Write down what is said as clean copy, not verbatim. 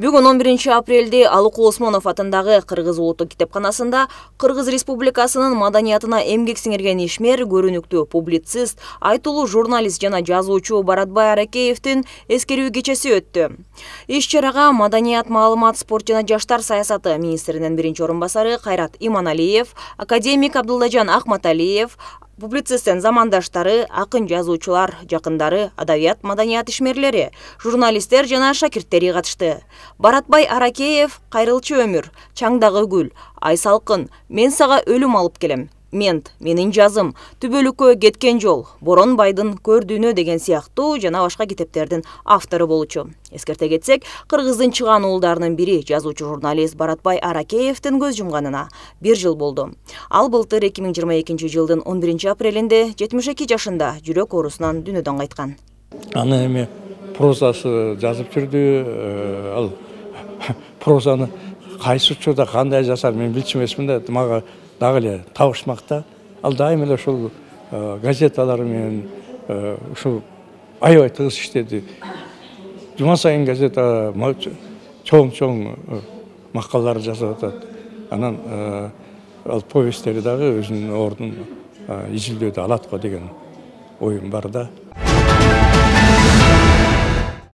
Бүгүн 11 апрелде Алыкул Осмонов атындагы Кыргыз улуттук китепканасында Кыргыз Республикасынын маданиятына эмгек сиңирген ишмер, көрүнүктүү публицист, айтулуу журналист жана жазуучу Баратбай Аракеевдин эскерүү кечеси өттү. Иш-чарага маданият, маалымат, спорт жана жаштар саясаты министринин биринчи орун басары Кайрат Иманалиев, академик Абдылдажан Акматалиев, публицисттин замандаштары, акын жазуучулар, жакындары, адабият, маданият ишмерлери, журналисттер жана шакирттери катышты. Баратбай Аракеев кайрылчу өмүр, чаңдагы гүл, ай салкын, мен сага өлүм алып келем. Мент, менин жазым, түбөлүккө кеткен жол, Боронбайдын көрдүүнө деген сыяктуу жана башка китептердин автору болчу. Эскерте кетсек, Кыргыздын чыгаан уулдарынын бири жазуучу журналист Баратбай Аракеевдин көз жумганына 1 жыл болду. Ал былтыр 2022 жылдын 11 апрелинде 72 жашында жүрөк оорусунан дүйнөдөн кайткан. Аны эми прозасы жазып жүрдү. Ал прозаны кайсы учурда кандай жасар мен билчү эмесмин да, мага дагы эле табышмакта. Ал дайым эле ушул газеталар менен ушул аябай тыгыз иштеди. Жума сайын газета чоң макалалар жазып атат. Анан ал повесттери дагы өзүнүн ордун изилдөөдө алат го деген оюм бар да.